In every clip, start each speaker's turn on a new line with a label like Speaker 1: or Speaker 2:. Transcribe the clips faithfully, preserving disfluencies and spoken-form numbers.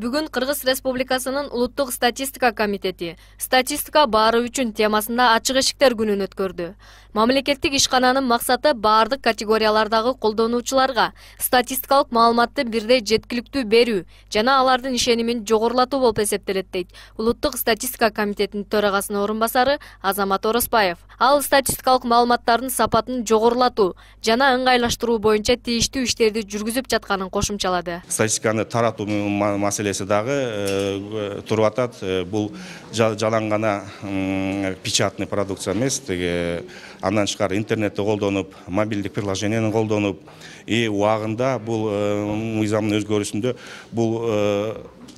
Speaker 1: Бүгүн Кыргыз Республикасынын Улуттук статистика комитети статистика баары үчүн темасында ачык эшиктер күнүн өткөрдү. Мамлекеттик ишкананын максаты баардык категориялардагы колдонуучуларга статистикалык маалыматты бирдей жеткиликтүү берүү жана алардын ишенимин жогорулатуу болуп эсептелет дейт Улуттук статистика комитетинин төрагасынын орун басары Азамат Ороспаев. Ал статистикалык маалыматтардын сапатын жогорулатуу жана ыңгайлаштыруу боюнча тийиштүү иштерди жүргүзүп жатканын кошумчалады.
Speaker 2: Статистиканы таратуу маселеси дагы туруп атат. Бул жалаң гана печатный продукция эмес, андан тышкары интернетти колдонуп, мобилдик приложениени колдонуп, и убагында бул мыйзамдын өзгөрүүсүндө бул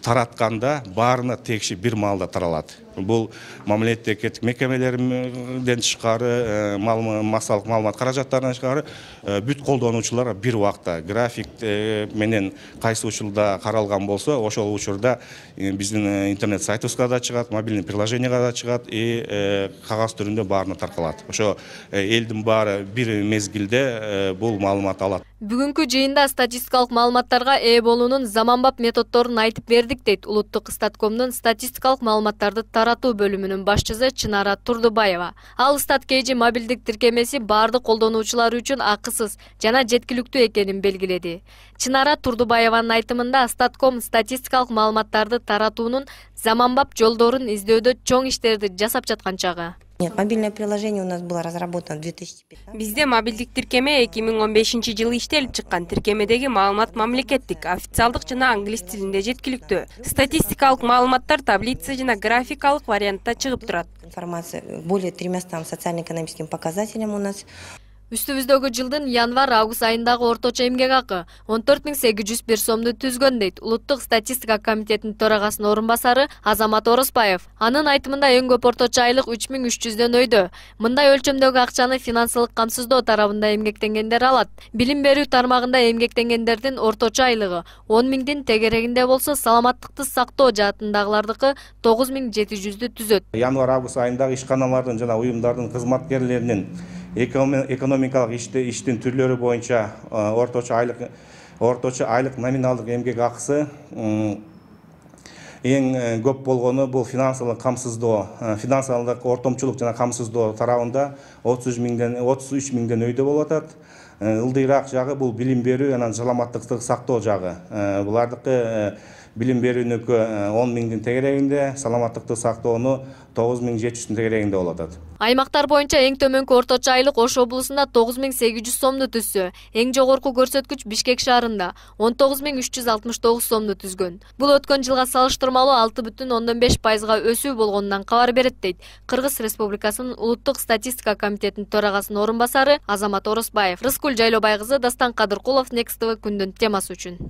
Speaker 2: таратканда баарына тегиши бир маалда таралат. Бул мамлекеттик мекемелерден тышкары, массалык маалымат каражаттарынан тышкары бүт колдонуучулар бир убакта график менен кайсы учурда каралган болсо, ошол учурда биздин интернет сайтыбызга да чыгат, мобильный приложенияга да чыгат, и кагаз түрүндө баарына таркалат. Ошо элдин баары бир мезгилде бул маалыматты алат.
Speaker 1: Бүгүнкү жыйында статистикалык маалыматтарга ээ болуунун заманбап методдорун айтып бердик дейт Улуттук статкомдун статистикалык маалыматтарды таратуу бөлүмүнүн башчысы Чынара Турдубаева. Ал статкейжи мобилдик тиркемеси баардык колдонуучулар үчүн акысыз жана жеткиликтүү экенин белгиледи. Чынара Турдубаеванын айтымында статком статистикалык маалыматтарды таратуунун заманбап жолдорун издөөдө чоң иштерди жасап жаткан чагы.
Speaker 3: Нет, мобильное приложение у нас было разработано в две тысячи пятнадцатом.
Speaker 4: Бизде мобилдик тиркеме эки миң он бешинчи жылы иштелип чыккан. Тиркемедеги маалымат мамлекеттик, официалдык жана англис тилинде жеткиликтүү. Статистикалык маалыматтар таблица жана графикалык вариантта чыгып турат.
Speaker 3: Информация более тремястам социально-экономическим показателям у нас.
Speaker 1: Үстүбүздөгү жылдын январь-август айындагы орточо эмгек акы он төрт миң сегиз жүз бир сомду түзгөн дейт Улуттук статистика комитетинин төрагасынын орун басары Азамат Ороспаев. Анын айтымында эң көп орточо айлык үч миң үч жүздөн өйдө. Мындай өлчөмдөгү акчаны финансылык камсыздоо тарабында эмгектенгендер алат. Билим берүү тармагында эмгектенгендердин орточо айлыгы он миңдин тегерегинде болсо, саламаттыкты сактоо жаатындагылардыкы тогуз миң жети жүздү түзөт.
Speaker 2: Январь-август айындагы ишканалардын жана уюмдардын кызматкерлеринин экономикалык иштин түрлөрү боюнча орточо айлык орточо айлык номиналдык эмгек акысы эң көп болгону бул финансылык камсыздоо, финансылык ортомчулук жана камсыздоо тарабында отуз миңден отуз үч миңден өйдө болуп атат. Ылдыйраак жагы бул билим берүү жана саламаттыкты сактоо жагы. Булардыкы билим берүүнүкү он миңдин тегерегинде, саламаттыкты сактоону тогуз миң жети жүздүн тегерегинде болуп атат.
Speaker 1: Аймактар боюнча эң төмөнкү орточо айлык Ош облусунда тогуз миң сегиз жүз сомду түзсө, эң жогорку көрсөткүч Бишкек шаарында он тогуз миң үч жүз алтымыш тогуз сомду түзгөн. Бул өткөн жылга салыштырмалуу алты бүтүн ондон беш пайызга өсүү болгонунан кабар берет дейт Кыргыз Республикасынын Улуттук статистика комитетинин төрагасынын орун басары Азамат Ороспаев. Рыскүл Жайлобай кызы, Дастан Кадыркулов, Next тэ вэ күндүн темасы үчүн.